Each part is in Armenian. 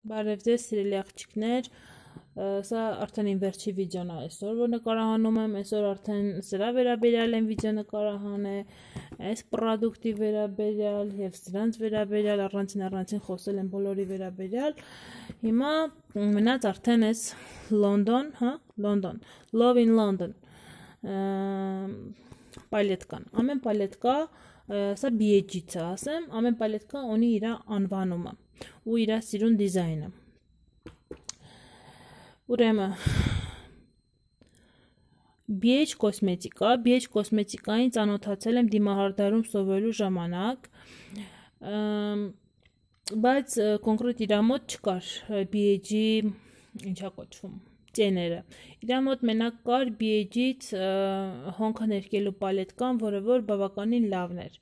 Բարև ձեզ սիրելի աղջիկներ, սա արդեն իմ վերջի վիդեոն է այսօր, որ նկարահանում եմ, այսօր արդեն սրա վերաբերյալ եմ վիդեո նկարահանել, այս պրոդուկտի վերաբերյալ և սրանց վերաբերյալ, առանցին խոսել եմ բոլորի վերաբերյալ, հիմա մնաց արդեն այս London, Love in London պալետկան, ամեն պալետկա, սա BHG-ց է ասեմ, ամեն պալետկա ունի իր անվանումը ու իր սիրուն դիզայնը։ Ուրեմն BH կոսմետիկային ծանոթացել եմ դիմահարդարում սովորելու ժամանակ, բայց կոնկրետ իր մոտ չկար BH-ի ինչա կոչվում ծեները։ Իր մոտ մենակ կար BH-ից հոնքը ներկելու պալետկան, որը որ բավականին լավն էր։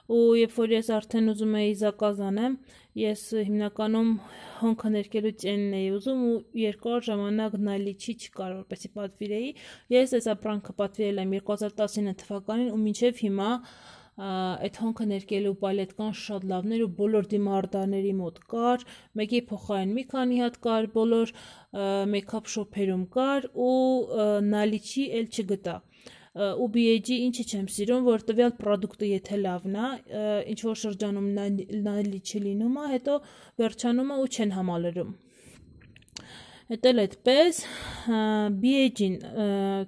Ու երբ որ ես արդեն ուզում էի զակազ անեմ, ես հիմնականում հոնքը ներկելու ծենն էի ուզում ու երկար ժամանակ նալիչի չկար, որպեսզի պատվիրեի։ Ես այս ապրանքը պատվիրել եմ 2019 թվականին ու մինչև հիմա այդ հոնքը ներկելու պալետկան շատ լավն էր ու բոլոր դիմահարդարների մոտ կար, մեկի փոխարեն մի քանի հատ կար, բոլոր մեյքափ շոփերում կար ու նալիչի էլ չգտա։ Ու BH-ի ինչի չեմ սիրում, որ տվյալ պրոդուկտը եթե լավն է, ինչ որ շրջանում նալիչի լինում է, հետո վերջանում է ու չեն համալրում։ Հետո այդպես BH-ին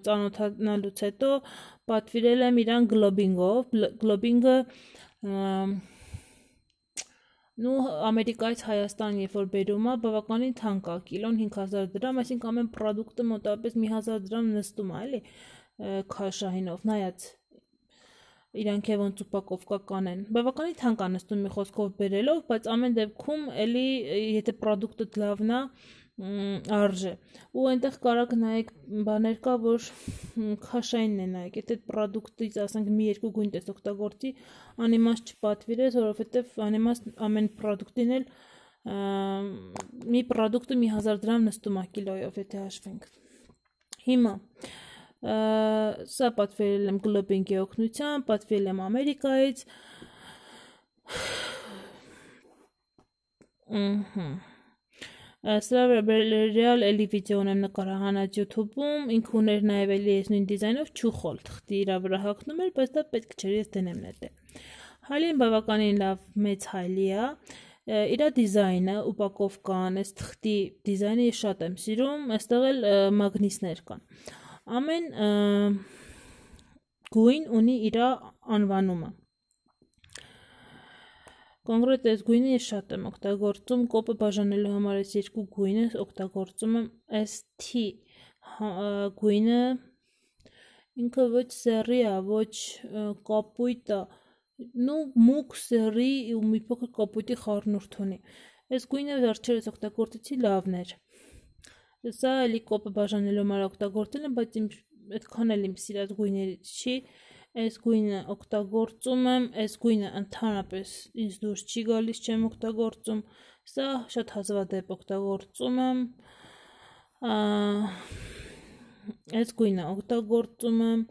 ծանոթանալուց հետո պատվիրել եմ իրան գլոբինգով, գլոբինգը Ամերիկայից Հայաստան երբ որ բերում է, բավականին թանկ է, կիլոն 5000 դրամ, այսինքն ամեն պրոդուկտը մոտավորապես 1000 դրամ նստում է, էլի քաշահինով, նայած իրանք է ոնց ուպակովկա կանեն, բավականին թանկ է նստում մի խոսքով բերելով, բայց ամեն դեպքում էլի եթե պրոդուկտը լավն է, արժե։ Ու այնտեղ կարակ նայեք բաներ կա, որ քաշայինն է նայեք, եթե պրոդուկտից ասենք մի երկու գույն տես օգտագործի, անիմաստ չպատվիրես, որովհետև անիմաստ ամեն պրոդուկտին էլ մի պրոդուկտը 1000 դրամ նստում է կիլոյով, եթե հաշվենք։ Հիմա սա պատվիրել եմ գլոբինգի օգնությամբ, պատվիրել եմ Ամերիկայից։ Սրա վերաբերյալ էլի վիդեոն եմ նկարահանած YouTube-ում, ինքը ուներ նաև էլի այս նույն դիզայնով չուխոլ, թղթի իր վրա հագնում էր, բայց դա պետք չէր, ես դնեմ նետե։ Հալին բավականին լավ մեծ հալի է, իր դիզայնը, ուպակովկան, այս թղթի դիզայնը ես շատ եմ սիրում, այստեղ էլ մագնիսներ կան։ Ամեն գույն ունի իր անվանումը։ Կոնկրետ այս գույնը ես շատ եմ օգտագործում, կոպը բաժանելու համար այս երկու գույնը օգտագործում եմ ST գույնը, ինքը ոչ սերի է, ոչ կապույտ է, մուգ սերի ու մի փոքր կապույտի խառնուրդ ունի։ Այս գույնը վերջերս օգտագործեցի լավն էր։ Սա էլի կոպը բաժանելու համար օգտագործել եմ, բայց այդքան էլ իմ սիրած գույներից չի։ Այս գույնը օգտագործում եմ, այս գույնը ընդհանրապես ինձ դուրս չի գալիս, չեմ օգտագործում, սա շատ հազվադեպ օգտագործում եմ, այս գույնը օգտագործում եմ,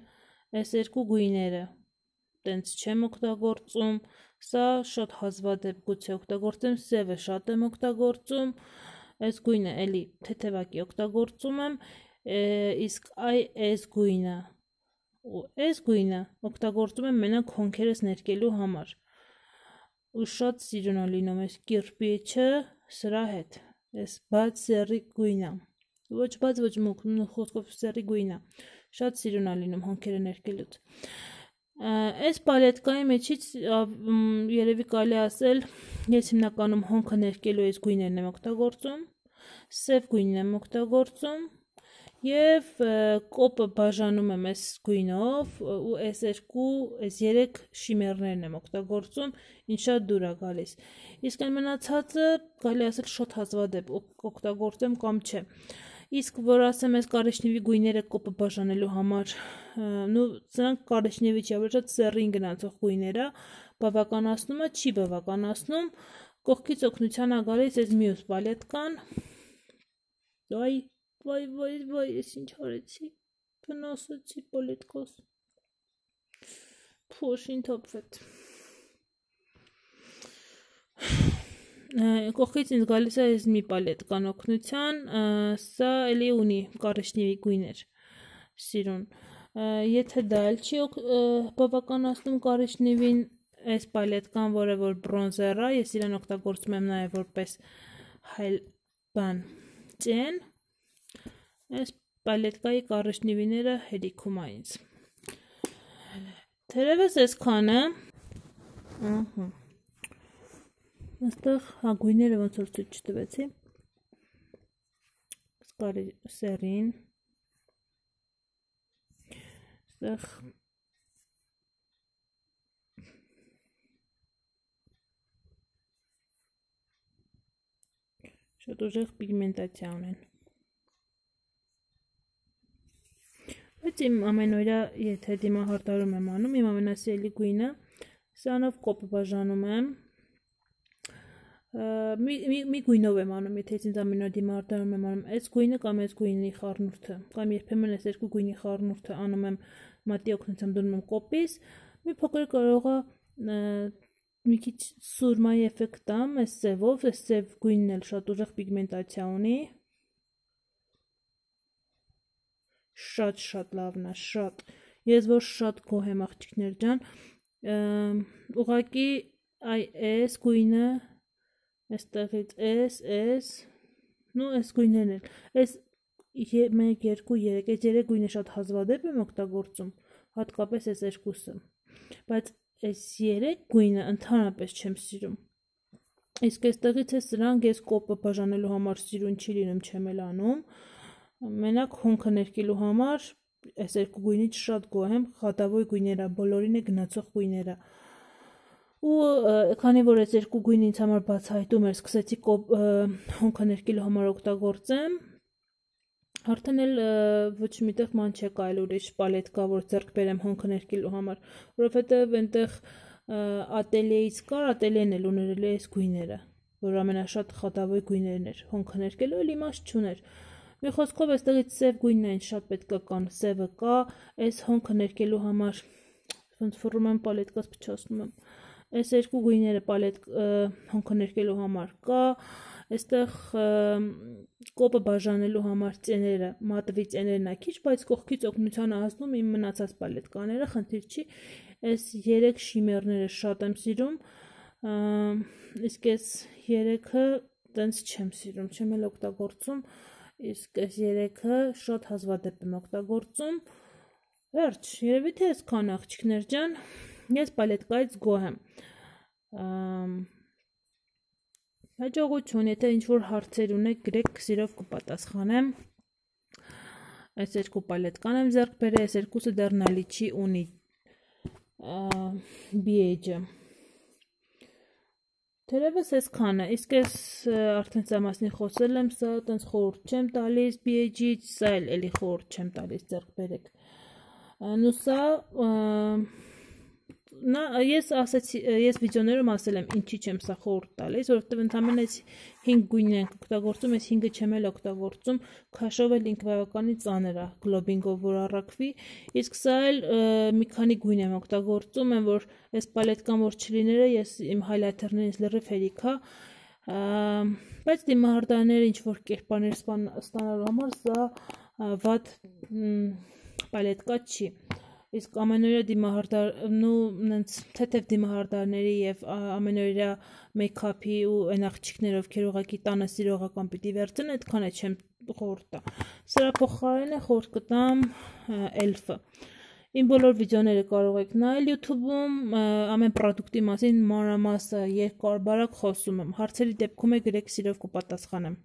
այս երկու գույները տենց չեմ օգտագործում, սա շատ հազվադեպ գուցե օգտագործեմ, սևը շատ եմ օգտագործում, այս գույնը էլի թեթևակի օգտագործում եմ, իսկ այս գույնը ու այս գույնը օգտագործում եմ մենակ հոնքերս ներկելու համար ու շատ սիրուն է լինում այս կիրպիչը սրա հետ, այս բաց սերի գույնը, ոչ բաց, ոչ մուգ, խոսքով սերի գույնը, շատ սիրուն է լինում հոնքերը ներկելուց։ Այս պալետկայի մեջից երևի կարելի ասել, ես հիմնականում հոնքը ներկելու այս գույներն եմ օգտագործում, սև գույնն եմ օգտագործում և կոպը բաժանում եմ այս գույնով ու այս երեք շիմերներն եմ օգտագործում, ինչ շատ դուր է գալիս։ Իսկ այն մնացածը կարելի ասել շատ հազվադեպ օգտագործեմ կամ չէ։ Իսկ որ ասեմ այս կարեչնևի գույները կոպը բաժանելու համար, սրանք կարեչնևի չի, ավելի շատ սեռին գնացող գույներ է, բավականացնում է, չի բավականացնում, կողքից օգնության է գալիս այս մյուս պալետկան, վայ, ես ինչ արեցի, վնասեցի պալետկաս, փոշին թափվեց։ կողքից ինձ գալիս է այս մի պալետկան օգնության, սա էլի ունի կարիճնիվի գույներ սիրուն, եթե դա էլ չի բավականացնում կարիճնիվին, այս պալետկան, որը որ բրոնզեր է, ես իրեն օգտագործում եմ նաև որպես հայլ բան ճեն, այս պալետկայի կարիճնիվիները հերիքում է ինձ, թերևս այսքանը, Այստեղ գույները ոնց որ ցույց չտվեցի, սկարի սերին, այստեղ շատ ուժեղ պիգմենտացիա ունեն, բայց իմ ամենօրյա եթե դիմահարդարում եմ անում, իմ ամենասիրելի գույնը, սրանով կոպը բաժանում եմ, մի գույնով եմ անում, եթե ինձ ամեն օր դիմահարդարում եմ անում, այս գույնը կամ այս գույնի խառնուրդը, կամ երբեմն այս երկու գույնի խառնուրդը անում եմ մատի օգնությամբ դնում եմ կոպիս, մի փոքր կարող է մի քիչ սուրմայի էֆեկտ տամ, այս սևով, այս սև գույնն էլ շատ ուժեղ պիգմենտացիա ունի, շատ լավն է, շատ, ես որ շատ գոհ եմ աղջիկներ ջան, ուղղակի այս գույնը Այստեղից այս, նու այս գույներն էլ, այս 1, 2, 3, այս 3 գույնը շատ հազվադեպ եմ օգտագործում, հատկապես այս երկուսը, բայց այս 3 գույնը ընդհանրապես չեմ սիրում, իսկ այստեղից է սրանք ես կոպը բաժանելու համար սիրուն չի լինում, չեմ էլ անում, մենակ հոնքը ներկելու համար այս երկու գույնից շատ գոհ եմ, խատավոյ գույները, բոլորին է գնացող գույները, ու քանի որ այս երկու գույնը ինձ համար բացահայտում էր, սկսեցի հոնքը ներկելու համար օգտագործեմ, արդեն էլ ոչ միտեղ ման չեկա այլ ուրիշ պալետկա, որ ձեռք բերեմ հոնքը ներկելու համար, որովհետև այնտեղ ատելիեից կար, ատելիեն էլ ուներ այս գույները, որ ամենաշատ խատավոյ գույներն էր, հոնքը ներկելու էլ իմաստ չուներ, մի խոսքով այստեղից սև գույնն այն շատ պետք է կան, սևը կա, այս հոնքը ներկելու համար, ոնց ֆռում եմ պալետկաս փչացնում եմ, Այս երկու գույները հոնքը ներկելու համար կա, այստեղ կոպը բաժանելու համար ծեները, մատվի ծեներն է քիչ, բայց կողքից օգնության ազդում իմ մնացած պալետկաները, խնդիր չի, այս 3 շիմերները շատ եմ սիրում, իսկ այս 3-ը տենց չեմ սիրում, չեմ էլ օգտագործում, իսկ այս 3-ը շատ հազվադեպ եմ օգտագործում, վերջ, երևի թե այսքան աղջիկներ ջան, Ես պալետկայից գոհ եմ, հաջողություն, եթե ինչ-որ հարցեր ունեք, գրեք սիրով կպատասխանեմ, այս երկու պալետկան եմ ձեռք բերել, այս երկուսը դեռ նալիչի ունի BH-ը, թերևս այսքանը, իսկ ես արդեն սա մասնի խոսել եմ, սա տենց խորհուրդ չեմ տալիս BH-ից, սա էլի խորհուրդ չեմ տալիս ձեռք բերեք, նու սա Ես վիդեոներում ասել եմ ինչի չեմ սա խորհուրդ տալիս, որովհետև ընդամենը այս 5 գույնն ենք օգտագործում, այս 5-ը չեմ էլ օգտագործում, քաշով էլ ինքը բավականի ծանր է, գլոբինգով որ առաքվի, իսկ սա էլ մի քանի գույն եմ օգտագործում, եմ որ այս պալետկան որ չլիները, ես իմ հայլայթերներից լրիվ հերիք է, բայց դիմահարդարները ինչ որ կերպարներ ստանալու համար սա վատ պալետկա չի Իսկ ամենօրյա դիմահարդար, թեթև դիմահարդարների և ամենօրյա մեյքափի ու այն աղջիկներ, ովքեր ուղղակի տանը սիրողական պիտի վերցնեն, այդքան է չեմ խորհուրդ տա։ Սրա փոխարենը խորհուրդ կտամ ELF-ը։ Իմ բոլոր վիդեոները կարող եք նայել YouTube-ում, ամեն պրոդուկտի մասին մանրամասը երկար բարակ խոսում եմ։ Հարցերի դեպքում է գրեք սիրով կպատասխանեմ։